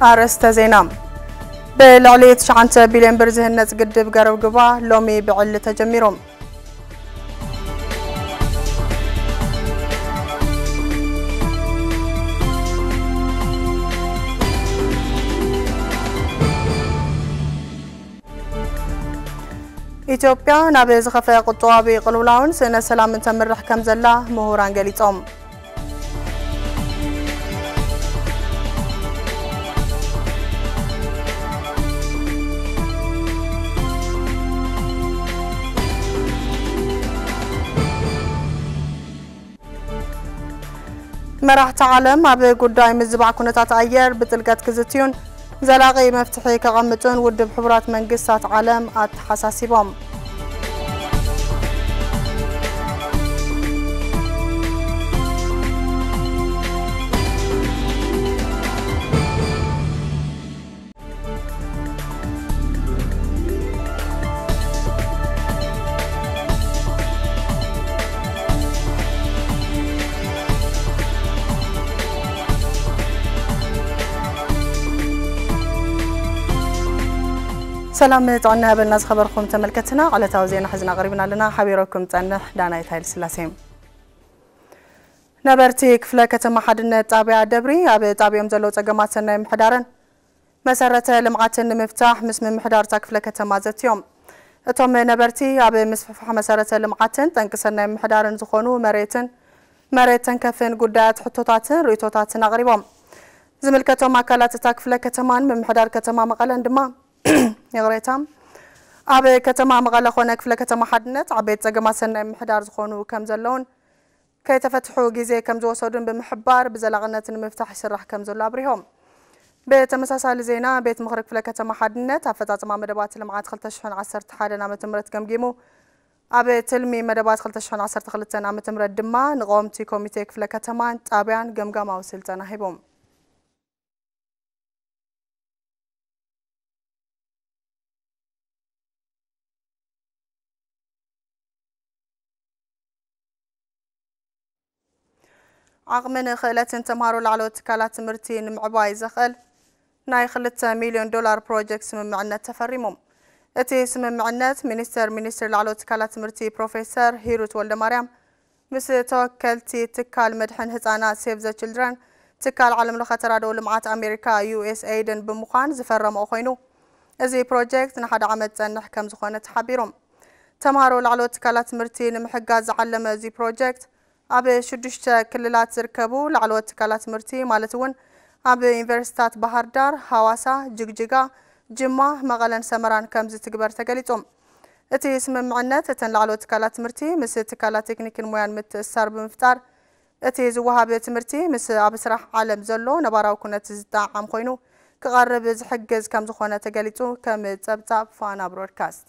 ኣርእስተ ዜና። ብልዕሊ ትሽዓተ ቢልዮን ብር ዝህነጽ ግድብ ገረብ ግባ ሎሚ ብዕሊ ተጀሚሩ። ኢትዮጵያ ናብ ዝኸፍአ ቁጠባዊ ቅልውላውን ስእነ ሰላምን ተምርሕ ከም ዘላ ምሁራን ገሊጾም። መራሕቲ ዓለም ኣብ ጉዳይ ምዝባዕ ኩነታት ኣየር ብጥልቀት ክዝትዩን ዘላቒ መፍትሒ ከቐምጡን ውድብ ሕቡራት መንግስታት ዓለም ኣተሓሳሲቦም። ሰላም ጥዕና ይሃበልና ዝኸበርኩም ተመልከትና፣ ዕለታዊ ዜና ሒዝና ቀሪብና ኣለና። ሓቢረኩም ጸንሕ ዳናይት ሃይለ ስላሴ። ነበርቲ ክፍለ ከተማ ሓድነት ጣብያ ደብሪ ኣብ ጣብዮም ዘለዉ ጸገማት ሰናይ ምሕዳርን መሰረተ ልምዓትን ንምፍታሕ ምስ ምምሕዳር እታ ክፍለ ከተማ ዘትዮም። እቶም ነበርቲ ኣብ ምስፍሕፋሕ መሰረተ ልምዓትን ጠንቂ ሰናይ ምሕዳርን ዝኾኑ መሬትን መሬት ተንከፍን ጉዳያት ሕቶታትን ርእቶታትን ኣቕሪቦም። ዝምልከቶም ኣካላት እታ ክፍለ ከተማን ምምሕዳር ከተማ መቐለን ድማ ይቕሬታ፣ ኣብ ከተማ መቐለ ኮነ ክፍለ ከተማ ሓድነት ዓበይቲ ጸገማት ሰናይ ምሕዳር ዝኾኑ ከም ዘለውን ከይተፈትሑ ግዜ ከም ዝወሰዱን ብምሕባር ብዘላቕነት ንምፍታሕ ይስራሕ ከም ዘሎ ኣብሪሆም። ብተመሳሳሊ ዜና ቤት ምኽሪ ክፍለ ከተማ ሓድነት ኣፈጻጽማ መደባት ልምዓት ክልተ ሽሕን ዓሰርተ ሓደን ዓመተ ምህረት ገምጊሙ ኣብ ትልሚ መደባት ክልተ ሽሕን ዓሰርተ ክልተን ዓመተ ምህረት ድማ ንቀወምቲ ኮሚቴ ክፍለ ከተማን ጣብያን ገምጋማዊ ስልጠና ሂቦም። ዓቕምን ክእለትን ተምሃሮ ላዕለዎት ትካላት ትምህርቲ ንምዕባይ ዘኽእል ናይ ክልተ ሚልዮን ዶላር ፕሮጀክት ስምምዕነት ተፈሪሞም። እቲ ስምምዕነት ሚኒስተር ሚኒስትር ላዕለዎት ትካላት ትምህርቲ ፕሮፌሰር ሂሩት ወልደማርያም ምስ ተወከልቲ ትካል መድሕን ህጻናት ሴቭ ዘ ችልድረን፣ ትካል ዓለም ለኸ ተራድኦ ልምዓት ኣሜሪካ ዩ ኤስ ኤይድን ብምዃን ዝፈረምኦ ኮይኑ፣ እዚ ፕሮጀክት ንሓደ ዓመት ጸንሕ ከም ዝኾነ ተሓቢሮም። ተምሃሮ ላዕለዎት ትካላት ትምህርቲ ንምሕጋዝ ዝዓለመ እዚ ፕሮጀክት ኣብ ሽዱሽተ ክልላት ዝርከቡ ላዕለዎት ትካላት ትምህርቲ ማለት እውን ኣብ ዩኒቨርሲቲታት ባህር ዳር፣ ሃዋሳ፣ ጅግጅጋ፣ ጅማ፣ መቐለን ሰመራን ከም ዝትግበር ተገሊጹ። እቲ ስምምዕነት እተን ላዕለዎት ትካላት ትምህርቲ ምስ ትካላት ቴክኒክን ሞያን ምትእስሳር ብምፍጣር እቲ ዝወሃብ ትምህርቲ ምስ ኣብ ስራሕ ዓለም ዘሎ ነባራዊ ኩነት ዝጠዓዓም ኮይኑ ክቐርብ ዝሕግዝ ከም ዝኾነ ተገሊጹ ከም ጸብጻብ ፋና ብሮድካስት።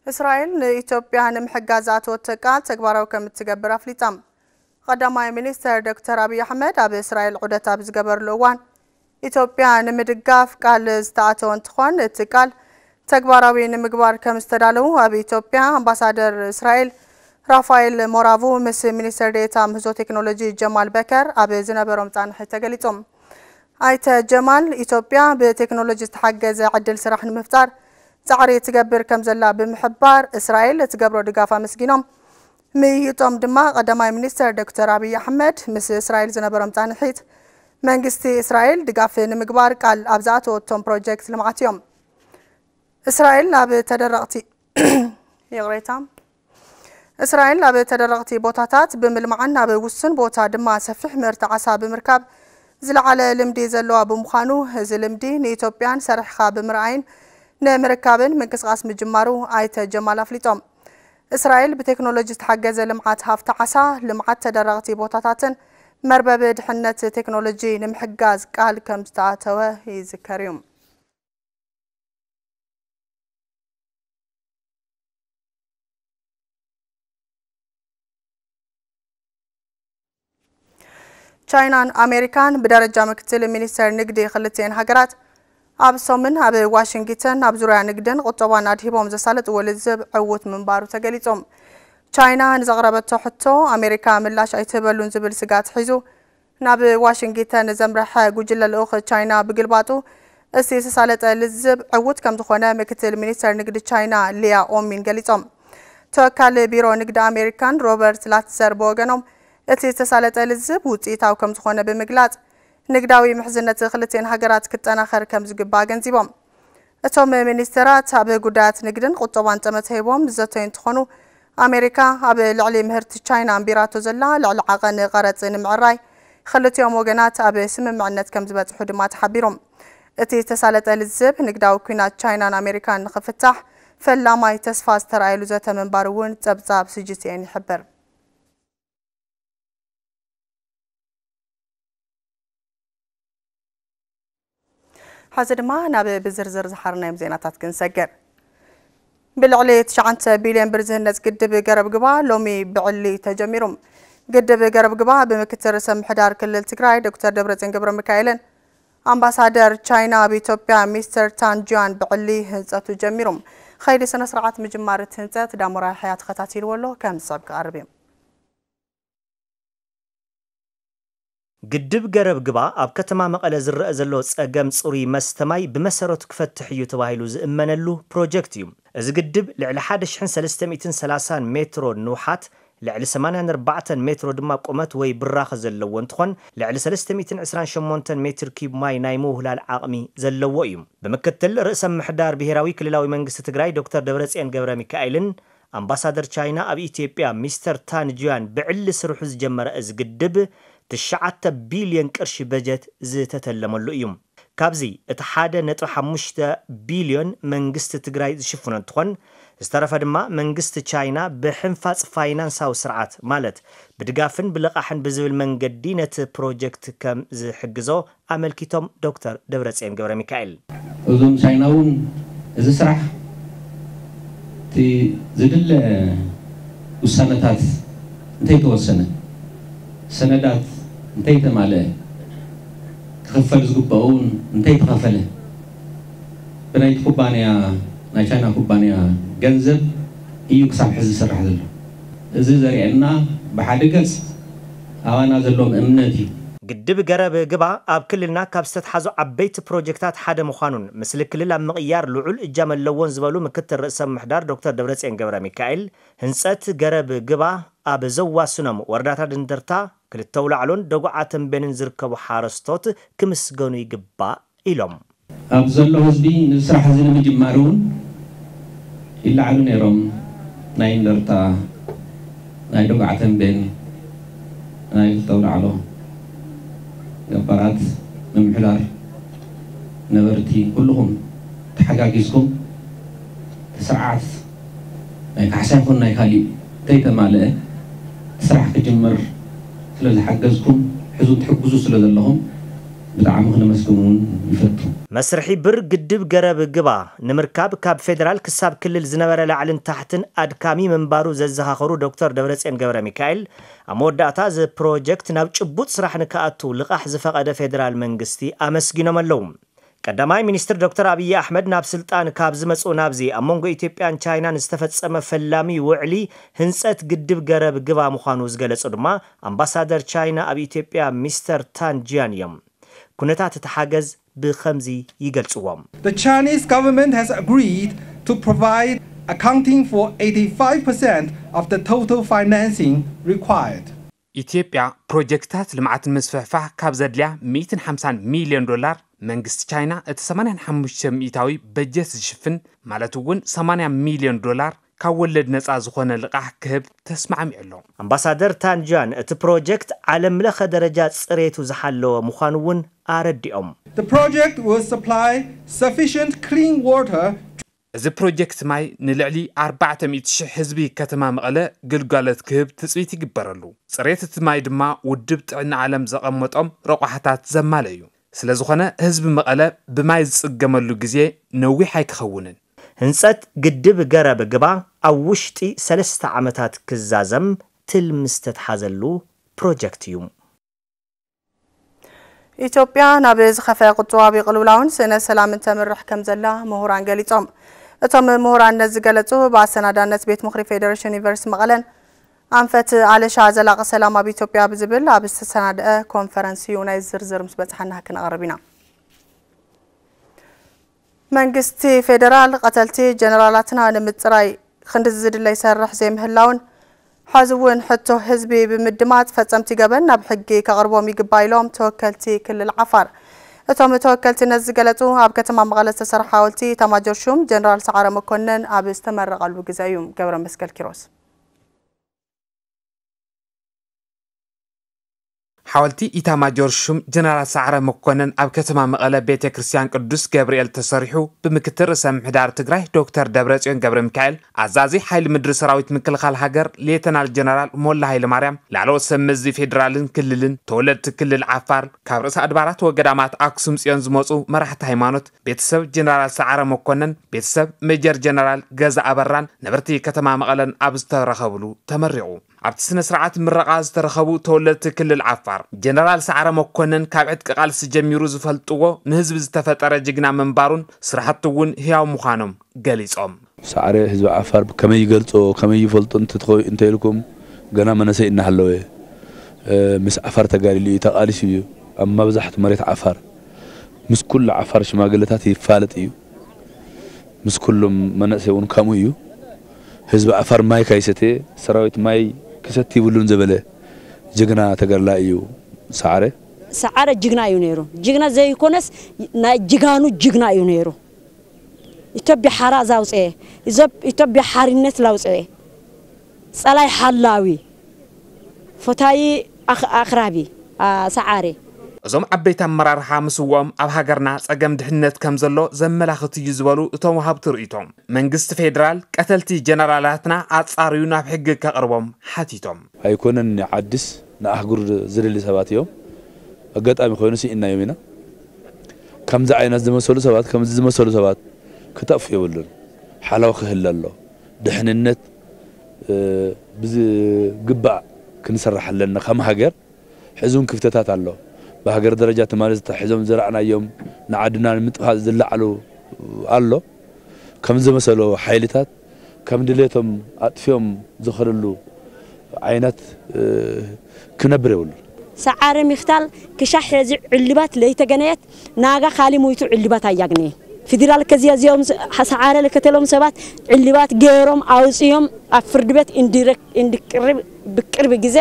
እስራኤል ንኢትዮጵያ ንምሕጋዝ ዝኣተወቶ ቃል ተግባራዊ ከም እትገብር ኣፍሊጣ። ቀዳማይ ሚኒስተር ዶክተር ኣብይ ኣሕመድ ኣብ እስራኤል ዑደት ኣብ ዝገበርሉ እዋን ኢትዮጵያ ንምድጋፍ ቃል ዝተኣተወ እንትኾን እቲ ቃል ተግባራዊ ንምግባር ከም ዝተዳለዉ ኣብ ኢትዮጵያ ኣምባሳደር እስራኤል ራፋኤል ሞራቮ ምስ ሚኒስተር ዴኤታ ምህዞ ቴክኖሎጂ ጀማል በከር ኣብ ዝነበሮም ጻንሒት ተገሊጾም። ኣይተ ጀማል፣ ኢትዮጵያ ብቴክኖሎጂ ዝተሓገዘ ዕድል ስራሕ ንምፍጣር ጻዕሪ ትገብር ከም ዘላ ብምሕባር፣ እስራኤል እትገብሮ ድጋፍ ኣመስጊኖም። ምይይጦም ድማ ቀዳማይ ሚኒስተር ዶክተር ኣብይ ኣሕመድ ምስ እስራኤል ዝነበሮም ጻንሒት፣ መንግስቲ እስራኤል ድጋፍ ንምግባር ቃል ኣብ ዝኣተወቶም ፕሮጀክት ልምዓት እዮም። እስራኤል ኣብ ተደረቕቲ ይቕሬታ። እስራኤል ኣብ ተደረቕቲ ቦታታት ብምልማዕን ኣብ ውሱን ቦታ ድማ ሰፊሕ ምህርቲ ዓሳ ብምርካብ ዝለዓለ ልምዲ ዘለዋ ብምዃኑ፣ እዚ ልምዲ ንኢትዮጵያን ሰሪሕኻ ብምርኣይን ንምርካብን ምንቅስቓስ ምጅማሩ ኣይተ ጀማል ኣፍሊጦም። እስራኤል ብቴክኖሎጂ ዝተሓገዘ ልምዓት ሃፍቲ ዓሳ፣ ልምዓት ተደረቕቲ ቦታታትን መርበብ ድሕነት ቴክኖሎጂ ንምሕጋዝ ቃል ከም ዝተኣተወ ይዝከር እዩ። ቻይናን ኣሜሪካን ብደረጃ ምክትል ሚኒስተር ንግዲ ክልቲኤን ሃገራት ኣብ ሰሙን ኣብ ዋሽንግተን ኣብ ዙርያ ንግድን ቁጠባን ኣድሂቦም ዘሳለጥዎ ልዝብ ዕዉት ምንባሩ ተገሊጾም። ቻይና ንዘቕረበቶ ሕቶ ኣሜሪካ ምላሽ ኣይትህበሉን ዝብል ስጋት ሒዙ ናብ ዋሽንግተን ዘምረሐ ጉጅለ ልኡኽ ቻይና ብግልባጡ፣ እቲ ዝተሳለጠ ልዝብ ዕዉት ከም ዝኾነ ምክትል ሚኒስተር ንግዲ ቻይና ሊያ ኦሚን ገሊጾም። ተወካሊ ቢሮ ንግዲ ኣሜሪካን ሮበርት ላትዘር ብወገኖም፣ እቲ ዝተሳለጠ ልዝብ ውጽኢታዊ ከም ዝኾነ ብምግላጽ፣ ንግዳዊ ምሕዝነት ክልቲኤን ሃገራት ክጠናኸር ከም ዝግባእ ኣገንዚቦም። እቶም ሚኒስተራት ኣብ ጉዳያት ንግድን ቁጠባን ጠመተ ሂቦም ዝዘተዩ እንትኾኑ፣ ኣሜሪካ ኣብ ልዕሊ ምህርቲ ቻይና ኣንቢራቶ ዘላ ልዕሊ ዓቐን ቀረጽ ንምዕራይ ክልቲኦም ወገናት ኣብ ስምምዕነት ከም ዝበጽሑ ድማ ተሓቢሩ። እቲ ዝተሳለጠ ልዝብ ንግዳዊ ኲናት ቻይናን ኣሜሪካን ንኽፍታሕ ፈላማይ ተስፋ ዝተራእየሉ ዘተ ምንባሩ እውን ጸብጻብ ሲ ጂ ቲ ኤን ይሕብር። ሕዚ ድማ ናብ ብዝርዝር ዝሓርናዮም ዜናታት ክንሰግር። ብልዕሊ ትሽዓተ ቢልዮን ብር ዝህነጽ ግድብ ገረብ ግባ ሎሚ ብዕሊ ተጀሚሩ። ግድብ ገረብ ግባ ብምክትል ርእሰ ምሕዳር ክልል ትግራይ ዶክተር ደብረጽዮን ገብረ ሚካኤልን ኣምባሳደር ቻይና ኣብ ኢትዮጵያ ሚስተር ታን ጂያን ብዕሊ ህንጸቱ ጀሚሩ። ኸይዲ ስነ ስርዓት ምጅማር እቲ ህንጸት ዳሞራ ያሕያ ተኸታቲልዎ ኣሎ፣ ከም ዝስዕብ ክቐርብ እዩ። ግድብ ገረብ ግባ ኣብ ከተማ መቐለ ዝረአ ዘሎ ጸገም ጽሩይ መስተ ማይ ብመሰረቱ ክፈትሕ እዩ ተባሂሉ ዝእመነሉ ፕሮጀክት እዩ። እዚ ግድብ ልዕሊ ሓደ ሽሕን ሰለስተ ሚእትን ሰላሳን ሜትሮ ንውሓት፣ ልዕሊ ሰማንያን ኣርባዕተን ሜትሮ ድማ ቁመት ወይ ብራኸ ዘለዎ እንትኾን፣ ልዕሊ ሰለስተ ሚእትን ዕስራን ሸሞንተን ሜትር ኪዩብ ማይ ናይ ምውህላል ዓቕሚ ዘለዎ እዩ። ብምክትል ርእሰ ምሕዳር ብሄራዊ ክልላዊ መንግስቲ ትግራይ ዶክተር ደብረጽዮን ገብረ ሚካኤልን ኣምባሳደር ቻይና ኣብ ኢትዮጵያ ሚስተር ታን ጂያን ብዕሊ ስርሑ ዝጀመረ እዚ ግድብ፣ ትሽዓተ ቢልዮን ቅርሺ በጀት ዝተተለመሉ እዩ። ካብዚ እቲ ሓደ ነጥቢ ሓሙሽተ ቢልዮን መንግስቲ ትግራይ ዝሽፍኖ እንትኾን፣ ዝተረፈ ድማ መንግስቲ ቻይና ብሕንፋፅ ፋይናንሳዊ ስርዓት፣ ማለት ብድጋፍን ብልቓሕን ብዝብል መንገዲ ነቲ ፕሮጀክት ከም ዝሕግዞ ኣመልኪቶም ዶክተር ደብረጽዮን ገብረ ሚካኤል። እዞም ቻይና እውን እዚ ስራሕ እቲ ዝድለ ውሳነታት እንተይተወሰነ፣ ሰነዳት እንተይተማልአ፣ ክኽፈል ዝግብኦ እውን እንተይተኸፈለ፣ ብናይቲ ኩባንያ፣ ናይ ቻይና ኩባንያ ገንዘብ እዩ ክሳብ ሕዚ ዝስራሕ ዘሎ። እዚ ዘርእየና ብሓደ ገጽ ኣባና ዘለዎም እምነት እዩ። ግድብ ገረብ ግባ ኣብ ክልልና ካብ ዝተትሓዙ ዓበይቲ ፕሮጀክታት ሓደ ምዃኑን፣ ምስሊ ክልል ኣብ ምቕያር ልዑል እጃም ኣለዎን ዝበሉ ምክትል ርእሰ ምሕዳር ዶክተር ደብረጽዮን ገብረ ሚካኤል፣ ህንጸት ገረብ ግባ ኣብ ዘዋስኖም ወረዳታት እንደርታ፣ ክልተ ኣውላዕሎን ደጉዓ ተንቤንን ዝርከቡ ሓረስቶት ክምስገኑ ይግባእ ኢሎም። ኣብ ዘሎ ህዝቢ ነዚ ስራሕ እዚ ንምጅማር እውን ይለዓሉ ነይሮም። ናይ እንደርታ፣ ናይ ደጉዓ ተንቤን፣ ናይ ክልተ ኣውላዕሎ ገባራት፣ ምምሕዳር፣ ነበርቲ፣ ኩልኹም ተሓጋጊዝኩም እቲ ስርዓት ናይ ካሕሳ ይኹን ናይ ካሊእ እንተይተማልአ እቲ ስራሕ ክጅመር ስለ ዝሓገዝኩም፣ ሕዚ ትሕግዙ ስለ ዘለኹም ብጣዕሚ ክነመስግን እውን ይፈቱ። መስርሒ ብር ግድብ ገረብ ግባ ንምርካብ ካብ ፌደራል ክሳብ ክልል ዝነበረ ላዕልን ታሕትን ኣድካሚ ምንባሩ ዘዘኻኸሩ ዶክተር ደብረጽዮን ገብረ ሚካኤል፣ ኣብ መወዳእታ እዚ ፕሮጀክት ናብ ጭቡጥ ስራሕ ንክኣቱ ልቓሕ ዝፈቐደ ፌደራል መንግስቲ ኣመስጊኖም ኣለዉ። ቀዳማይ ሚኒስትር ዶክተር ኣብይ ኣሕመድ ናብ ስልጣን ካብ ዝመጽኡ ናብዚ ኣብ መንጎ ኢትዮጵያን ቻይናን ዝተፈጸመ ፈላሚ ውዕሊ ህንጸት ግድብ ገረብ ግባ ምዃኑ ዝገለጹ ድማ ኣምባሳደር ቻይና ኣብ ኢትዮጵያ ሚስተር ታን ጂያን እዮም። ኩነታት እቲ ሓገዝ ብኸምዚ ይገልጽዎ። The Chinese government has agreed to provide accounting for eighty-five percent of the total financing required. ኢትዮጵያ ፕሮጀክትታት ልምዓት ንምስፍሕፋሕ ካብ ዘድልያ ሚእትን ሓምሳን ሚልዮን ዶላር፣ መንግስቲ ቻይና እቲ ሰማንያን ሓሙሽተ ሚእታዊ በጀት ዝሽፍን፣ ማለት እውን ሰማንያ ሚልዮን ዶላር ካብ ወለድ ነጻ ዝኾነ ልቓሕ ክህብ ተስማዕሚዑ ኣሎ። ኣምባሳደር ታን ጂያን፣ እቲ ፕሮጀክት ዓለም ለኸ ደረጃ ጽሬቱ ዝሓለወ ምዃኑ እውን ኣረዲኦም። The project will supply sufficient clean water እዚ ፕሮጀክት ማይ ንልዕሊ ኣርባዕተ ሚእቲ ሽሕ ህዝቢ ከተማ መቐለ ግልጋሎት ክህብ ትጽቢት ይግበረሉ። ጽሬት እቲ ማይ ድማ ውድብ ጥዕና ዓለም ዘቐመጦም ረቋሕታት ዘማልእ እዩ። ስለ ዝኾነ ህዝቢ መቐለ ብማይ ዝጽገመሉ ግዜ ነዊሕ ኣይክኸውንን። ህንጸት ግድብ ገረብ ግባ ኣብ ውሽጢ ሰለስተ ዓመታት ክዛዘም ትልሚ ዝተትሓዘሉ ፕሮጀክት እዩ። ኢትዮጵያ ናብ ዝኸፍአ ቁጠባዊ ቅልውላውን ስእነት ሰላምን ተምርሕ ከም ዘላ ምሁራን ገሊጾም። እቶም ምሁራን ነዚ ዝገለጹ ብኣሰናዳነት ቤት ምኽሪ ፌዴሬሽን ዩኒቨርሲቲ መቐለን ኣንፈት ኣለሻ ዘላቒ ሰላም ኣብ ኢትዮጵያ ብዝብል ኣብ ዝተሰናደአ ኮንፈረንስ እዩ። ናይ ዝርዝር ምስ በጽሓና ክነቕርብ ኢና። መንግስቲ ፌዴራል ቀተልቲ ጀነራላትና ንምጽራይ ክንዲ ዝድለ ይሰርሕ ዘይምህላውን፣ ሕዚ እውን ሕቶ ህዝቢ ብምድማጽ ፈጸምቲ ገበን ናብ ሕጊ ከቕርቦም ይግባእ ኢሎም ተወከልቲ ክልል ዓፋር። እቶም ተወከልቲ ነዚ ዝገለጹ ኣብ ከተማ መቐለ ዝተሰርሐ ሓወልቲ ኤታማጆር ሹም ጀነራል ሰዓረ መኮነን ኣብ ዝተመረቐሉ ግዜ እዩ። ገብረ መስቀል ኪሮስ። ሓወልቲ ኢታማጆር ሹም ጀነራል ሰዓረ መኮነን ኣብ ከተማ መቐለ ቤተ ክርስቲያን ቅዱስ ገብርኤል ተሰሪሑ ብምክትል ርእሰ ምምሕዳር ትግራይ ዶክተር ደብረጽዮን ገብረ ሚካኤል፣ ኣዛዚ ሓይሊ ምድሪ ሰራዊት ምክልኻል ሃገር ሌተናል ጀነራል ሞላ ሃይለ ማርያም፣ ላዕለዎት ሰብ መዚ ፌዴራልን ክልልን፣ ተወለድቲ ክልል ዓፋር፣ ካብ ርእሰ ኣድባራት ወገዳማት ኣክሱም ጽዮን ዝመጹ መራሕቲ ሃይማኖት፣ ቤተሰብ ጀነራል ሰዓረ መኮነን፣ ቤተሰብ ሜጀር ጀነራል ገዛ ኣበራን ነበርቲ ከተማ መቐለን ኣብ ዝተረኸብሉ ተመሪቑ። ኣብቲ ስነ ስርዓት ምረቓ ዝተረኸቡ ተወለድቲ ክልል ዓፋር፣ ጀነራል ሰዓረ መኮነን ካብ ዕጥቂ ቃልሲ ጀሚሩ ዝፈልጥዎ ንህዝቢ ዝተፈጠረ ጅግና ምንባሩን ስራሕቱ እውን ህያው ምዃኖም ገሊጾም። ሰዓረ ህዝቢ ዓፋር ከመይ ይገልጾ፣ ከመይ ይፈልጦ እንተ-፣ እንተ ኢልኩም፣ ገና መነሰይ እናሃለወ፣ እ፣ ምስ ዓፋር ተጋዲሉ እዩ፣ ተቓሊሱ እዩ። ኣብ መብዛሕቱ መሬት ዓፋር ምስ ኩሉ ዓፋር ሽማግለታት ይፋለጥ እዩ። ምስ ኩሎም መናእሰይ እውን ከምኡ እዩ። ህዝቢ ዓፋር ማይ ካይሰተ፣ ሰራዊት ማይ ክሰቲ ይብሉን ዝበለ ጅግና ተጋዳላይ እዩ ሰዓረ። ሰዓረ ጅግና እዩ ነይሩ። ጅግና ዘይኮነስ ናይ ጅጋኑ ጅግና እዩ ነይሩ። ኢትዮጵያ ሓራ ዛውፅኤ፣ ኢዞብ-፣ ኢትዮጵያ ሓርነት ላውፅኤ፣ ፀላይ ሓላዊ፣ ፈታዪ ኣኽ-፣ ኣኽራቢ፣ ኣ፣ ሰዓረ። እዞም ዓበይቲ ኣመራርሓ ምስውኦም ኣብ ሃገርና ጸገም ድሕነት ከም ዘሎ ዘመላኽት እዩ ዝበሉ እቶም ወሃብቲ ርእይቶ፣ መንግስቲ ፌደራል ቀተልቲ ጀነራላትና ኣጻርዩ ናብ ሕጊ ከቕርቦም ሓቲቶም። ኣይኮነን ንዓድስ ንኣህጉር ዝደሊ ሰባት እዮም። ኣጋጣሚ ኮይኑ ስኢናዮም ኢና። ከምዚ ዓይነት ዝመሰሉ ሰባት፣ ከምዚ ዝመሰሉ ሰባት ክጠፍኡ የብሉን። ሓላው ክህለ ኣሎ። ድሕንነት፣ እ፣ ብዝግባእ ክንሰርሕ ኣለና ከም ሃገር። ሕዚ እውን ክፍተታት ኣሎ። ብሃገር ደረጃ ትማሊ ዝተታሒዞም ዝረኣናዮም ንዓድና ንምጥፋእ ዝለዓሉ ኣሎ። ከም ዝመሰሎ ሓይልታት ከም ድሌቶም ኣጥፊኦም ዝኸደሉ ዓይነት፣ እ፣ ክነብር የብሉን። ሰዓረ ምኽታል ክሻሕ ሕዚ ዕልባት ለይተገነየት ናጋ ካሊ ሞይቱ ዕልባት ኣያግነየ። ፊደራል ከዚያ እዚኦም ስ-፣ ሰዓረ ለከተሎም ሰባት ዕልባት ገይሮም ኣውፅዮም ኣብ ፍርድ ቤት እንዲረክ-፣ እንዲቅርብ ብቅርብ ግዜ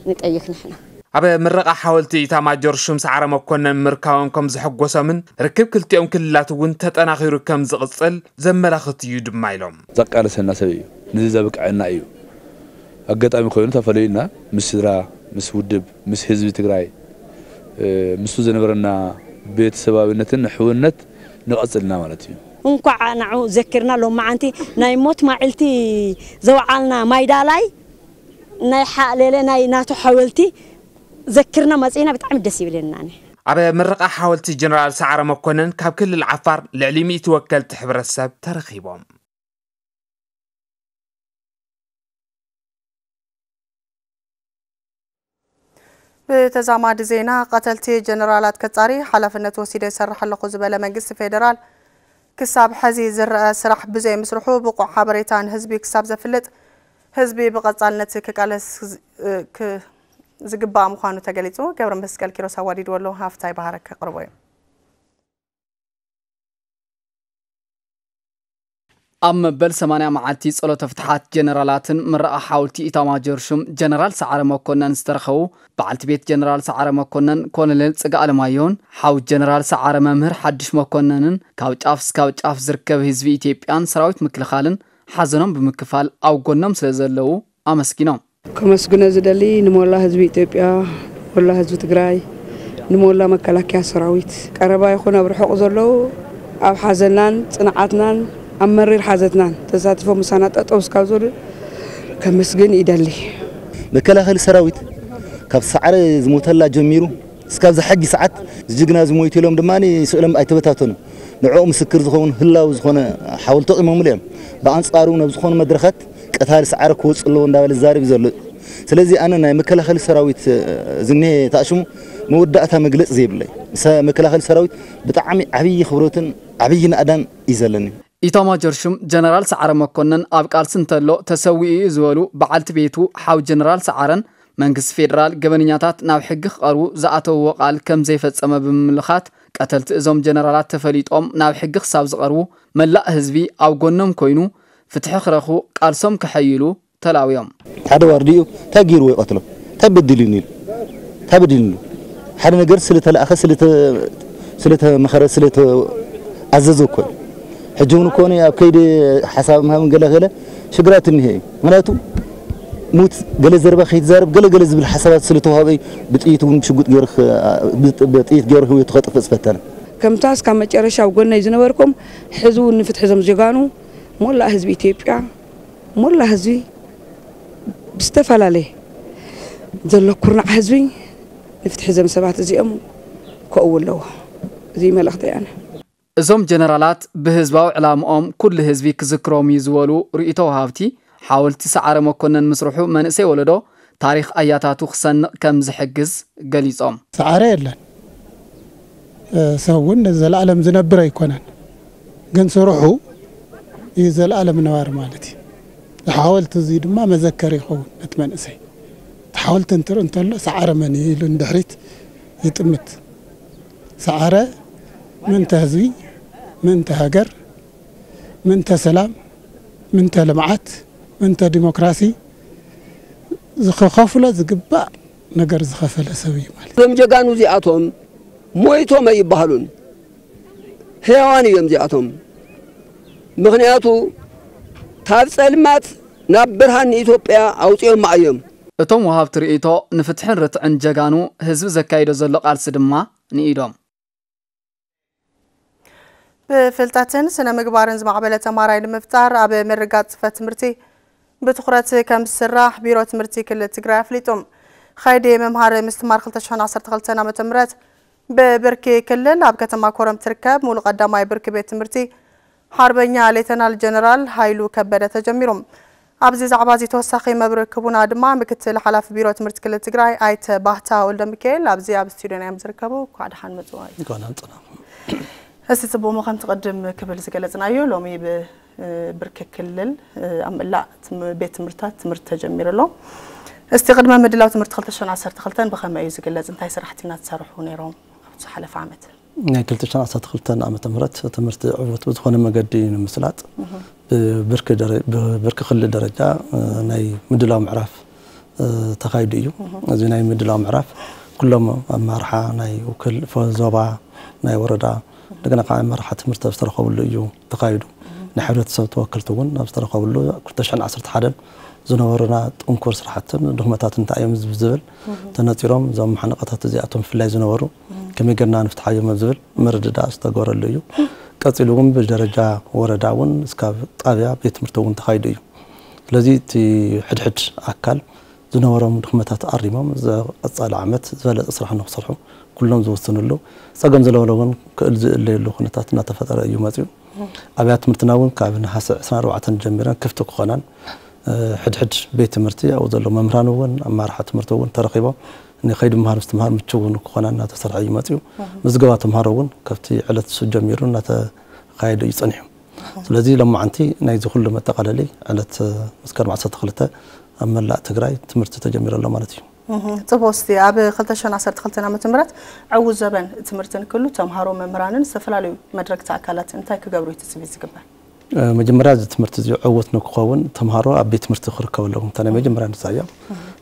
ንጠይቅ ንሕና። ኣብ ምረቓ ሓወልቲ ኢታማጆር ሹም ሰዓረ መኮነን ምርካቦም ከም ዘሐጎሶምን ርክብ ክልቲኦም ክልላት እውን ተጠናኺሩ ከም ዝቕጽል ዘመላኽት እዩ ድማ ኢሎም። ዘቃለሰና ሰብ እዩ። ንዚ ዘብቅዐና እዩ። ኣጋጣሚ ኮይኑ ተፈለዩና ምስ ስድራ፣ ምስ ውድብ፣ ምስ ህዝቢ ትግራይ፣ እ፣ ምስኡ ዝነበረና ቤተሰባዊነትን ሕውነት ንቐጽልና ማለት እዩ። እንኳዕ ንዑ ዘኪርና ሎማዓንቲ ናይ ሞት ማዕልቲ ዘውዓልና ማይዳላይ ናይ ሓ-፣ ሌለ ናይ ናቱ ሓወልቲ ዘኪርና መጺእና ብጣዕሚ ደስ ይብለና። ኣብ ምረቓ ሓወልቲ ጀነራል ሰዓረ መኮነን ካብ ክልል ዓፋር ልዕሊ ሚእቲ ወከልቲ ሕብረተሰብ ተረኺቦም። ብተዛማዲ ዜና፣ ቀተልቲ ጀነራላት ከጻሪ ሓላፍነት ወሲደ ይሰርሕ ኣለኹ ዝበለ መንግስቲ ፌደራል፣ ክሳብ ሐዚ ዝረአ ስራሕ ብዘይ ምስርሑ ብቑዕ ሓበሬታ ንህዝቢ ክሳብ ዘፍልጥ፣ ህዝቢ ብቐጻልነት ክቃለስ ዝ-፣ ክ-፣ ዝግባእ ምዃኑ ተገሊጹ። ገብረ መስቀል ኪሮስ ኣዋዲድዎ ኣሎ፣ ሃፍታይ ባህረ ከቕርቦ እዩ። ኣብ መበል ሰማንያ መዓልቲ ጸሎተ ፍትሓት ጀነራላትን ምረቓ ሓውልቲ ኢታማጆር ሹም ጀነራል ሰዓረ መኮነን ዝተረኸቡ በዓልቲ ቤት ጀነራል ሰዓረ መኮነን ኮሎኔል ጽጋ ኣለማየሁን ሓው ጀነራል ሰዓረ መምህር ሓድሽ መኮነንን ካብ ጫፍ እስካብ ጫፍ ዝርከብ ህዝቢ ኢትዮጵያን ሰራዊት ምክልኻልን ሓዘኖም ብምክፋል ኣብ ጎኖም ስለ ዘለዉ ኣመስጊኖም። ከመስግኖ ዝደሊ ንሞላ ህዝቢ ኢትዮጵያ፣ ሞላ ህዝቢ ትግራይ፣ ንሞላ መከላከያ ሰራዊት፣ ቀረባ ይኹን ኣብ ርሑቕ ዘለዉ ኣብ ሓዘናን ጽንዓትናን ኣብ መሪር ሓዘትናን ተሳቲፎም ምሳና ጠጠው እስካብ ዝበሉ ከመስግን ይደሊ። መከላኸሊ ሰራዊት ካብ ሰዓረ ዝሞተላ ጀሚሩ እስካብዚ ሕጂ ሰዓት ዝጅግና ዝሞይቱ ኢሎም ድማ ስእሎም ኣይተበታተኑን። ንዕኡ ምስክር ዝኸውን ህላው ዝኾነ ሓወልቲ ኣቑሞምሉ እዮም። ብኣንጻሩ ናብ ዝኾኑ መድረኻት ቀታሊ ሰዓረ ክወጽእ ኣለዎ እንዳበለ ዝዛረብ እዩ ዘሎ። ስለዚ ኣነ ናይ መከላኸሊ ሰራዊት፣ እ፣ ዝኒሄ ተኣሽሙ መወዳእታ መግለጺ ዘይብለይ። ሰ-፣ መከላኸሊ ሰራዊት ብጣዕሚ ዓብዪ ክብረትን ዓብዪ ናእዳን እዩ ዘለኒ። ኢታማጆር ሹም ጀነራል ሰዓረ መኮነን ኣብ ቃልሲ እንተሎ ተሰዊኡ እዩ ዝበሉ በዓልቲ ቤቱ ሓው ጀነራል ሰዓረን መንግስቲ ፌደራል ገበነኛታት ናብ ሕጊ ክቐርቡ ዝኣተውዎ ቃል ከም ዘይፈጸመ ብምምልኻት ቀተልቲ እዞም ጀነራላት ተፈሊጦም ናብ ሕጊ ክሳብ ዝቐርቡ መላእ ህዝቢ ኣብ ጎኖም ኮይኑ ፍትሒ ክረኽቡ ቃልሶም ከሐይሉ ተላውዮም። ሓደ ዋርድኡ እንታይ ገይርዎ ይቐትሎ? እንታይ በዲሉኒ ኢሉ? እንታይ በዲሉኒ? ሓደ ነገር ስለተላእኸ ስለተ ስለተመኸረ ስለተኣዘዘ እኮ እዩ። ሕጂ እውን እኮ ኣብ ከይዲ ሓሳብ ምሃብን ገለ ገለ ሽግራት እኒሄ እዩ። ምክንያቱ ሙት ገለ ዘረባ ከይትዛረብ ገለ ገለ ዝብል ሓሳባት ስለተዋሃበ እዩ። ብጥይት እውን ሽጉጥ ገይሩ ክ- ብጥ- ብጥይት ገይሩ ህይወቱ ከጥፍእ ዝፈተነ። ከምታ እስካብ መጨረሻ ኣብ ጎነይ ዝነበርኩም ሕዚ እውን ንፍትሒ እዞም ጀጋኑ ሞላእ ህዝቢ ኢትዮጵያ ሞላእ ህዝቢ ብዝተፈላለየ ዘሎ ኩርናዕ ህዝቢ ንፍትሒ እዞም ሰባት እዚኦም ከእው ኣለዎ። እዚ መልእኽቲ ኣነ። እዞም ጀነራላት ብህዝባዊ ዕላምኦም ኩሉ ህዝቢ ክዝክሮም እዩ ዝበሉ ርእይቶ ወሃብቲ ሓወልቲ ሰዓረ መኮነን ምስርሑ መንእሰይ ወለዶ ታሪኽ ኣያታቱ ክሰንቕ ከም ዝሕግዝ ገሊጾም። ሰዓረ የለን ሰብ እውን ንዘለኣለም ዝነብር ኣይኮነን። ግን ስርሑ እዩ ዘለኣለም ነባሪ ማለት እዩ። ሓወልቲ እዚ ድማ መዘከር ይኸውን ነቲ መንእሰይ። እቲ ሓወልቲ እንትርኢ እንተሎ ሰዓረ መን እዩ ኢሉ ንድሕሪት ይጥምት። ሰዓረ ምእንተ ህዝቢ፣ ምእንተ ሃገር፣ ምእንተ ሰላም፣ ምእንተ ልምዓት፣ ምእንተ ዲሞክራሲ ዝኸኸፍሎ ዝግባእ ነገር ዝኸፈለ ሰብ እዩ ማለት እዩ። እዞም ጀጋኑ እዚኣቶም ሞይቶም ኣይበሃሉን፣ ህያዋን እዮም እዚኣቶም። ምኽንያቱ ካብ ጸልማት ናብ ብርሃን ንኢትዮጵያ ኣውጺኦማ እዮም። እቶም ወሃብቲ ርእይቶ ንፍትሕን ርትዕን ጀጋኑ ህዝቢ ዘካይዶ ዘሎ ቃልሲ ድማ ንኢዶም። ብፍልጠትን ስነ ምግባርን ዝማዕበለ ተማሃራይ ንምፍጣር ኣብ ምርግጋፅ ፅፈት ትምህርቲ ብትኹረት ከም ዝስራሕ ቢሮ ትምህርቲ ክልል ትግራይ ኣፍሊጡ። ኻይዲ ምምሃር ምስትምሃር ክልተ ሽሕን ዓሰርተ ክልተን ዓመተ ምህረት ብብርኪ ክልል ኣብ ከተማ ኮረም ትርከብ ሙሉ ቀዳማይ ብርኪ ቤት ትምህርቲ ሓርበኛ ሌተናል ጀነራል ሃይሉ ከበደ ተጀሚሩ። ኣብዚ ዛዕባ እዚ ተወሳኺ መብርሂ ክህቡና ድማ ምክትል ሓላፊ ቢሮ ትምህርቲ ክልል ትግራይ ኣይተ ባህታ ወልደሚካኤል ኣብዚ ኣብ ስቱድዮና እዮም ዝርከቡ። እንኳዕ ደሓን መፁ። እንኳዕ ደሓን ፀናኹም። እስቲ ፅቡቕ እሞ ከምቲ ቅድም ክብል ዝገለፅናዮ ሎሚ ብብርኪ ክልል ኣብ መላእ ትም- ቤት ትምህርትታት ትምህርቲ ተጀሚሩ ኣሎ። እስቲ ቅድመ ምድላው ትምህርቲ ክልተ ሽሕን ዓሰርተ ክልተን ብኸመይ እዩ ዝግለፅ? እንታይ ስራሕቲ ኢና ትሰርሑ ነይሮም ኣብቲ ዝሓለፈ ዓመት? ናይ ክልተ ሽሕን ዓሰርተ ክልተን ዓመተ ምህረት ትምህርቲ ዕዉት ብዝኾነ መገዲ ንምስላጥ ብብርኪ ደረ- ብብርኪ ክልል ደረጃ ናይ ምድላው ምዕራፍ ተኻይዱ እዩ። እዚ ናይ ምድላው ምዕራፍ ኩሎም ኣመራርሓ ናይ ውክል ዞባ ናይ ወረዳ እንደገና ከዓ ኣመራርሓ ትምህርቲ ዝተረኸብሉ እዩ ተኻይዱ። ናይ ሕብረተሰብ ተወከልቲ እውን ኣብ ዝተረኸብሉ ክልተ ሽሕን ዓሰርተ ሓደን ዝነበሩና ጥንኩር ስራሕትን ድኽመታትን እንታይ እዮም ዝብል ተነፂሮም እዞም መሓንቀታት እዚኣቶም ብፍላይ ዝነበሩ ከመይ ጌርና ንፍትሓዮም ኣብ ዝብል ምርድዳእ ዝተገበረሉ እዩ። ቀፂሉ እውን ብደረጃ ወረዳ እውን እስካብ ጣብያ ቤት ትምህርቲ እውን ተኻይዱ እዩ። ስለዚ እቲ ሕድሕድ ኣካል ዝነበሮም ድኽመታት ኣሪሞም ዝቐፃሊ ዓመት ዝበለፀ ስራሕ ንክሰርሑ ኩሎም ዝውስንሉ ፀገም ዝለበለ እውን ክእል ዝእለየሉ ኩነታት እናተፈጠረ እዩ መፅዩ። ኣብያተ ትምህርትና እውን ካብ ነሓሰ ዕስራን ኣርባዕተን ጀሚረን ክፍቲ ክኾናን ሕድሕድ ቤት ትምህርቲ ኣብኡ ዘሎ መምህራን እውን ኣመራርሓ ትምህርቲ እውን ተረኺቦም ንኸይዲ ምሃር ምስትምሃር ምችው እውን ክኾና እናተሰርሐ እዩ መፅዩ። ምዝገባ ተምሃሮ እውን ካብቲ ዕለት እሱ ጀሚሩ እናተኻየደ እዩ ፀኒሑ። ስለዚ ሎማዓንቲ ናይዚ ኩሉ መጠቓለሊ ዕለት መስከረም ዓሰርተ ክልተ ኣብ መላእ ትግራይ ትምህርቲ ተጀሚሩ ኣሎ ማለት እዩ። ፅቡቅ እስቲ ኣብ ክልተ ሽሕን ዓሰርተ ክልተን ዓመተ ምህረት ዕዉት ዘበን ትምህርቲ ንክህሉ ተምሃሮ መምህራንን ዝተፈላለዩ መድረግቲ ኣካላት እንታይ ክገብሩ እዩ ትፅቢት ዝግበር? መጀመርያ እዚ ትምህርቲ እዚ ዕዉት ንክኸውን ተምሃሮ ኣብ ቤት ትምህርቲ ክርከቡ ኣለዎም። እታ ናይ መጀመርያ ንሳ እያ።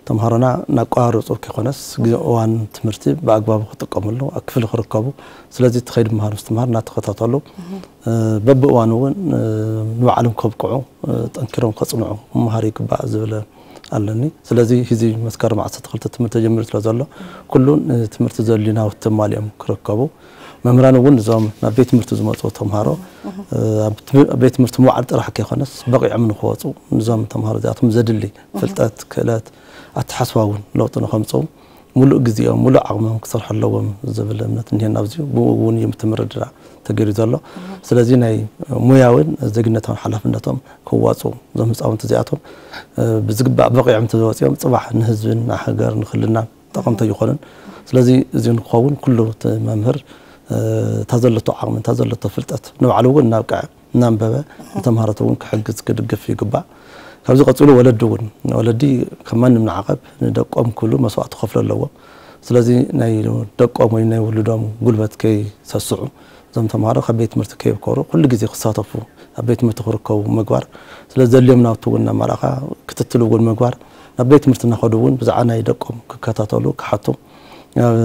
ተምሃሮና እናቋረፁ ከይኮነስ ግዜ እዋን ትምህርቲ ብኣግባቡ ክጥቀምሉ ኣብ ክፍሊ ክርከቡ ስለዚ እቲ ከይዲ ምሃር ምስትምሃር እናተኸታተሉ በብእዋኑ እውን ንባዕሎም ከብቅዑ ጠንኪሮም ከፅንዑ ክመሃሩ ይግባእ ዝብል ኣለኒ። ስለዚ ሕዚ መስከረም ዓሰርተ ክልተ ትምህርቲ ተጀሚሩ ስለ ዘሎ ኩሉ ንትምህርቲ ዘድልዩ ናውቲ ተማሊኦም ክርከቡ መምህራን እውን እዞም ናብ ቤት ትምህርቲ ዝመፁ ተምሃሮ ኣብ ቤት ትምህርቲ ምውዓል ጥራሕ ከይኮነስ በቂዖም ንክወፁ ንዞም ተምሃሮ እዚኣቶም ዘድሊ ፍልጠት፣ ክእለት፣ ኣተሓስባ እውን ለውጢ ንከምፅኡ ሙሉእ ግዜኦም ሙሉእ ዓቕሞም ክሰርሑ ኣለዎም ዝብል እምነት እኒሀና ኣብዚ ብኡ እውን እዩ ምትምርድዳእ ተገይሩ ዘሎ። ስለዚ ናይ ሙያውን ዜግነታውን ሓላፍነቶም ክዋፅኡ እዞም ህፃውንቲ እዚኣቶም ብዝግባእ በቂዖም ተወፂኦም ፅባሕ ንህዝብን ንሃገር ንክልልናን ጠቐምቲ ኣይኾኑን። ስለዚ እዚ ንክኸውን ኩሉ እቲ መምህር እታ ዘለቶ ዓቕሚ እታ ዘለቶ ፍልጠት ንባዕሉ እውን እናብቅዐ እናንበበ ንተምሃሮት እውን ክሕግዝ ክድግፍ ይግባእ። ካብዚ ቀፂሉ ወለዲ እውን፣ ወለዲ ከም ማንም ንዓቐብ ንደቆም ክብሉ መስዋእቲ ክኸፍሉ ኣለዎም። ስለዚ ናይ ደቆም ወይ ናይ ውሉዶም ጉልበት ከይሰስዑ፣ እዞም ተምሃሮ ካብ ቤት ትምህርቲ ከይብከሩ ኩሉ ግዜ ክሳተፉ ኣብ ቤት ትምህርቲ ክርከቡ ምግባር። ስለዚ ዘድልዮም ናውቲ እውን እናመርኣኻ ክትትል እውን ምግባር፣ ናብ ቤት ትምህርቲ እናኸዱ እውን ብዛዕባ ናይ ደቆም ክከታተሉ ክሓቱ፣ ኣብ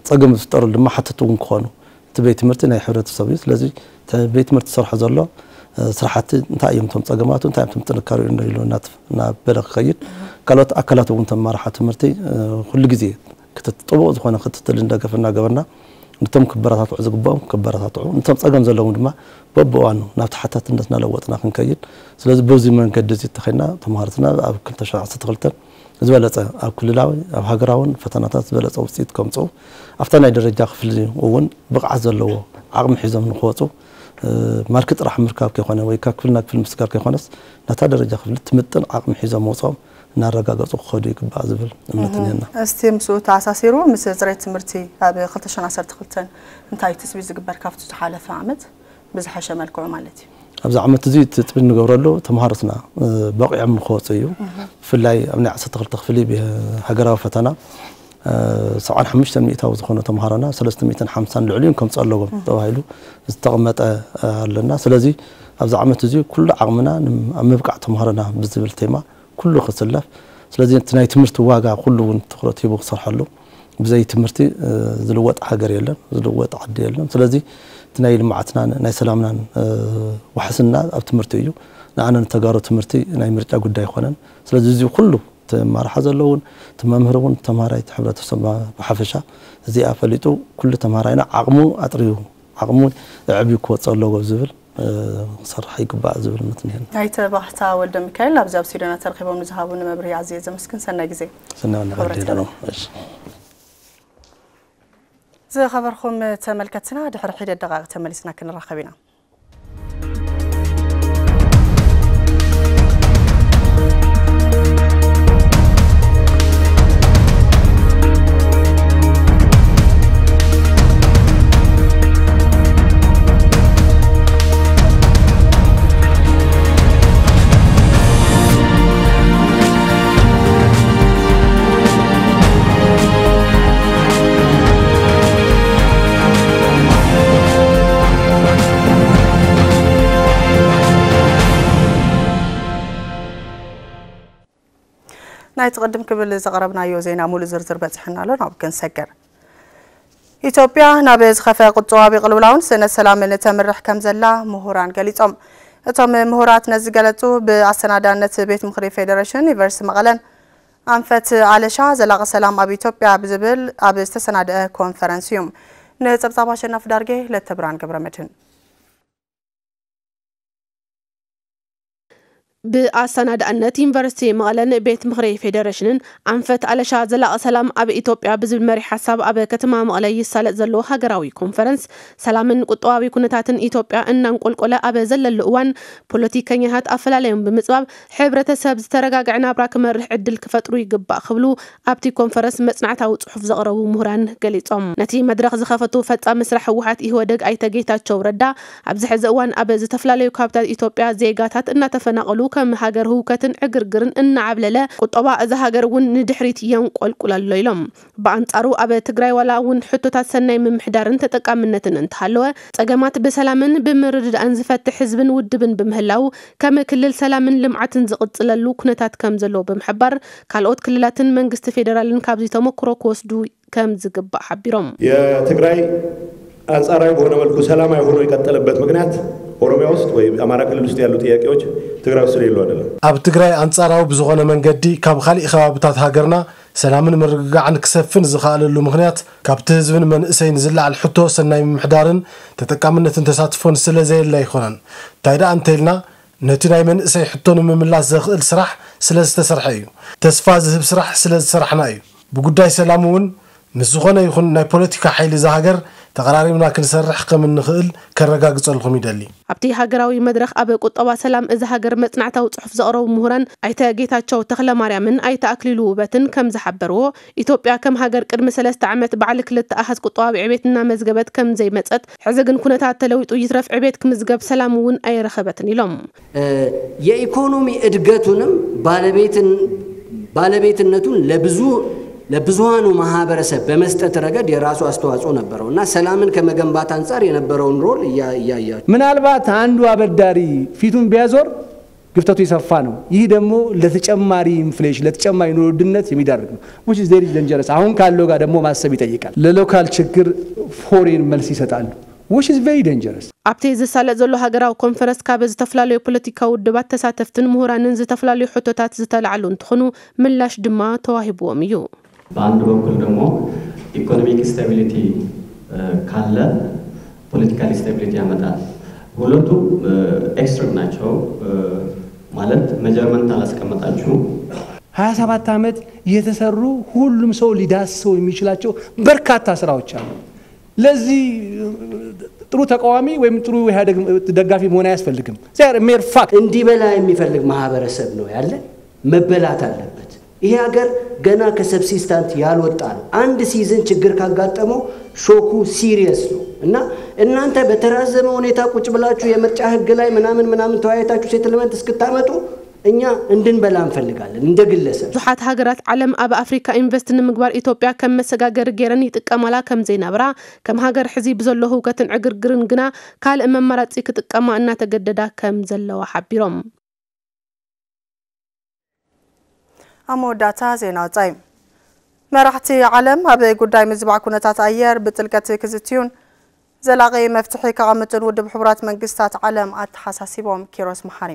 ፀገም ዝፍጠረሉ ድማ ሓተቲ እውን ክኾኑ። እቲ ቤት ትምህርቲ ናይ ሕብረተሰብ እዩ። ስለዚ እቲ ቤት ትምህርቲ ዝሰርሖ ዘሎ ስራሕቲ እንታይ እዮም እቶም ፀገማቱ፣ እንታይ እዮም እቶም ጥንካሬኡ ኢሉ እናበለ ክኸይድ፣ ካልኦት ኣካላት እውን ተመራሓ ትምህርቲ ኩሉ ግዜ ጥቡቕ ዝኾነ ክትትልን ደገፍ እናገበርና፣ ነቶም ክበረታትዑ ዝግብኦም ክበረታትዑ፣ ነቶም ፀገም ዘለዎም ድማ በብእዋኑ ናብ ተሓታትነት እናለወጥና ክንከይድ። ስለዚ በዚ መንገዲ እዚ እንተኸይድና፣ ተምሃሮትና ኣብ ክልተ ሽሕን ዓሰርተ ክልተን ዝበለፀ ኣብ ክልላዊ ኣብ ሃገራውን ፈተናታት ዝበለፀ ውፅኢት ከምፅኡ፣ ኣብታ ናይ ደረጃ ክፍሊ እውን ብቕዓት ዘለዎ ዓቕሚ ሒዞም ንክወፁ፣ ማርክ ጥራሕ ምርካብ ከይኮነ ወይ ካብ ክፍሊ ናብ ክፍሊ ምስጋር ከይኮነስ፣ ነታ ደረጃ ክፍሊ ትምጥን ዓቕሚ ሒዞም መውፅኦም እናረጋገፁ ክኸዱ ይግባእ ዝብል እምነት እኒሀና። እስቲ ምስኡ ተኣሳሲሩ፣ ምስ ፅሬት ትምህርቲ ኣብ ክልተ ሽሕን ዓሰርተ ክልተን እንታይ ትፅቢት ዝግበር ካብቲ ዝሓለፈ ዓመት ብዝሓሸ መልክዑ ማለት እዩ? ኣብዚ ዓመት እዚ ትፅቢት ንገብረሉ ተምሃሮትና በቂዖም ንክወፁ እዩ። ብፍላይ ኣብ ናይ ዓሰርተ ክልተ ክፍሊ ሃገራዊ ፈተና ሰብዓን ሓሙሽተን ሚእታዊ ዝኾኑ ተምሃሮና ሰለስተ ሚእትን ሓምሳን ልዕሊኡን ከምፅእ ኣለዎም ተባሂሉ ዝተቐመጠ ኣለና። ስለዚ ኣብዚ ዓመት እዚ ኩሉ ዓቕምና ኣብ ምብቃዕ ተምሃሮና ብዝብል ቴማ ኩሉ ክስለፍ። ስለዚ እቲ ናይ ትምህርቲ ዋጋ ኩሉ እውን ትኹረት ሂቡ ክሰርሐሉ፣ ብዘይ ትምህርቲ ዝልወጥ ሃገር የለን፣ ዝልወጥ ዓዲ የለን። ስለዚ እቲ ናይ ልምዓትናን ናይ ሰላምናን ዋሕስና ኣብ ትምህርቲ እዩ። ንኣነ ንተጋሩ ትምህርቲ ናይ ምርጫ ጉዳይ ኣይኮነን። ስለዚ እዚ ኩሉ እቲ ኣመራርሓ ዘለውን እቲ መምህር እውን ተምሃራይ እቲ ሕብረተሰብ ብሓፈሻ እዚኣ ፈሊጡ ኩሉ ተምሃራይና ዓቕሙ ኣጥርዩ ዓቕሙ ኣዕብዩ ክወፅእ ኣለዎ ዝብል ክሰርሕ ይግባእ ዝብል እምነት እኒሀኒ። ኣይተ ባህታ ወልደ ሚካኤል ኣብዚ ኣብ ስቱድዮና ተረኺቦም ንዝሃቡኒ መብርሂ ኣዝየ ዘመስግን። ሰናይ ግዜ። ሰናይ ክብረት ወንድም ይሃበልና። እሺ። ዝኸበርኩም ተመልከትና ድሕሪ ሒደት ደቃይቕ ተመሊስና ክንራኸብ ኢና። ናይቲ ቅድም ክብል ዘቕረብናዮ ዜና ሙሉእ ዝርዝር በፂሑና ኣሎ፣ ናብ ክንሰግር። ኢትዮጵያ ናብ ዝኸፍአ ቁጠባዊ ቅልውላውን ስእነት ሰላምን ተምርሕ ከም ዘላ ምሁራን ገሊጾም። እቶም ምሁራት ነዚ ገለጹ ብኣሰናዳእነት ቤት ምኽሪ ፌዴሬሽን ዩኒቨርሲቲ መቐለን ኣንፈት ኣለሻ ዘላቒ ሰላም ኣብ ኢትዮጵያ ብዝብል ኣብ ዝተሰናደአ ኮንፈረንስ እዩ። ንጸብጻብ ኣሸናፊ ዳርጌ ለተብራን ገብረመድህን። ብኣሰናዳእነት ዩኒቨርሲቲ መቐለን ቤት ምኽሪ ፌዴሬሽንን ኣንፈት ኣለሻ ዘላቒ ሰላም ኣብ ኢትዮጵያ ብዝብል መሪሕ ሓሳብ ኣብ ከተማ መቐለ ይሳለጥ ዘሎ ሃገራዊ ኮንፈረንስ ሰላምን ቁጠባዊ ኩነታትን ኢትዮጵያ እናንቆልቆለ ኣብ ዘለሉ እዋን ፖለቲከኛታት ኣፈላለዮም ብምፅባብ ሕብረተሰብ ዝተረጋግዐ ናብራ ክመርሕ ዕድል ክፈጥሩ ይግባእ ክብሉ ኣብቲ ኮንፈረንስ መጽናዕታዊ ጽሑፍ ዘቕረቡ ምሁራን ገሊጾም። ነቲ መድረኽ ዝኸፈቱ ፈጻሚ ስራሕ ህወሓት ኢህወደግ ኣይተ ጌታቸው ረዳ ኣብዚ ሕዚ እዋን ኣብ ዝተፈላለዩ ከባብታት ኢትዮጵያ ዜጋታት እናተፈናቐሉ ከም ሃገር ህውከትን ዕግርግርን እናዓብለለ ቁጠባ እዛ ሃገር እውን ንድሕሪት የንቆልቁል ኣሎ ኢሎም። ብኣንጻሩ ኣብ ትግራይ ዋላ እውን ሕቶታት ሰናይ ምምሕዳርን ተጠቃምነትን እንተሃለወ ጸገማት ብሰላምን ብምርድዳእን ዝፈትሕ ህዝብን ውድብን ብምህላው ከም ክልል ሰላምን ልምዓትን ዝቕጽለሉ ኩነታት ከም ዘሎ ብምሕባር ካልኦት ክልላትን መንግስቲ ፌደራልን ካብዚ ተሞክሮ ክወስዱ ከም ዝግባእ ሓቢሮም። የትግራይ አንጻራዊ በሆነ መልኩ ሰላማዊ ሆኖ የቀጠለበት ምክንያት ኦሮሚያ ውስጥ ወይ አማራ ክልል ውስጥ ያሉ ጥያቄዎች ትግራይ ውስጥ የሉ አይደለም። ኣብ ትግራይ ኣንጻራዊ ብዝኾነ መንገዲ ካብ ካሊእ ከባብታት ሃገርና ሰላምን ምርግጋዕን ክሰፍን ዝኸኣለሉ ምኽንያት ካብቲ ህዝብን መንእሰይን ዝለዓል ሕቶ ሰናይ ምምሕዳርን ተጠቃምነትን ተሳትፎን ስለ ዘየለ ኣይኮነን። እንታይ ደኣ እንተኢልና ነቲ ናይ መንእሰይ ሕቶ ንምምላስ ዘኽእል ስራሕ ስለ ዝተሰርሐ እዩ። ተስፋ ዝህብ ስራሕ ስለ ዝሰራሕና እዩ። ብጉዳይ ሰላም እውን ምስ ዝኾነ ይኹን ናይ ፖለቲካ ሓይሊ እዛ ሃገር ተቐራሪብና ክንሰርሕ ከም እንኽእል ከረጋግጸልኩም ይደሊ። ኣብቲ ሃገራዊ መድረኽ ኣብ ቁጠባ ሰላም እዛ ሃገር መጽናዕታዊ ጽሑፍ ዘቕረቡ ምሁራን ኣይተ ጌታቸው ተኽለማርያምን ኣይተ ኣክሊሉ ውበትን ከም ዝሓበርዎ፣ ኢትዮጵያ ከም ሃገር ቅድሚ ሰለስተ ዓመት ባዕሊ ክልተ ኣሃዝ ቁጠባዊ ዕቤት እናመዝገበት ከም ዘይመጸት፣ ሕዚ ግን ኩነታት ተለዊጡ ይትረፍ ዕቤት ክምዝገብ ሰላም እውን ኣይረኸበትን ኢሎም። የኢኮኖሚ እድገቱንም ባለቤትነቱን ለብዙሃኑ ማህበረሰብ በመስጠት ረገድ የራሱ አስተዋጽኦ ነበረው እና ሰላምን ከመገንባት አንጻር የነበረውን ሮል እያያችሁ ምናልባት አንዱ አበዳሪ ፊቱን ቢያዞር ግፍተቱ የሰፋ ነው። ይህ ደግሞ ለተጨማሪ ኢንፍሌሽን ለተጨማሪ ኑሮ ውድነት የሚዳርግ ነው። Which is very dangerous። አሁን ካለው ጋር ደግሞ ማሰብ ይጠይቃል። ለሎካል ችግር ፎሬን መልስ ይሰጣሉ። Which is very dangerous። ኣብቲ ዝሳለጥ ዘሎ ሃገራዊ ኮንፈረንስ ካብ ዝተፈላለዩ ፖለቲካዊ ውድባት ተሳተፍትን ምሁራንን ዝተፈላለዩ ሕቶታት ዝተላዕሉ እንትኾኑ ምላሽ ድማ ተዋሂብዎም እዩ። በአንድ በኩል ደግሞ ኢኮኖሚክ ስታቢሊቲ ካለ ፖለቲካል ስታቢሊቲ ያመጣል። ሁለቱ ኤክስትሪም ናቸው። ማለት ሜጀርመንት አላስቀመጣችሁም። ሀያ ሰባት ዓመት የተሰሩ ሁሉም ሰው ሊዳስሰው የሚችላቸው በርካታ ስራዎች አሉ። ለዚህ ጥሩ ተቃዋሚ ወይም ጥሩ ኢህአዴግ ደጋፊ መሆን አያስፈልግም። They are mere fact። እንዲበላ የሚፈልግ ማህበረሰብ ነው ያለ። መበላት አለበት። ይሄ ሀገር ገና ከሰብሲስታንት ያልወጣ ነው። አንድ ሲዝን ችግር ካጋጠመው ሾኩ ሲሪየስ ነው እና እናንተ በተራዘመ ሁኔታ ቁጭ ብላችሁ የምርጫ ህግ ላይ ምናምን ምናምን ተወያይታችሁ ሴትልመንት እስክታመጡ እኛ እንድንበላ እንፈልጋለን እንደ ግለሰብ። ብዙሓት ሃገራት ዓለም ኣብ ኣፍሪካ ኢንቨስት ንምግባር ኢትዮጵያ ከም መሰጋገሪ ገይረን ይጥቀማላ ከም ዘይናብራ፣ ከም ሃገር ሕዚ ብዘሎ ህውከትን ዕግርግርን ግና ካልእ መማራፂ ክጥቀማ እናተገደዳ ከም ዘለዋ ሓቢሮም። ኣብ መወዳእታ ዜና ወፃኢ። መራሕቲ ዓለም ኣብ ጉዳይ ምዝባዕ ኩነታት ኣየር ብጥልቀት ክዝትዩን ዘላቒ መፍትሒ ከቐምጡን ውድብ ሕቡራት መንግስታት ዓለም ኣተሓሳሲቦም። ኪሮስ መሓሪ።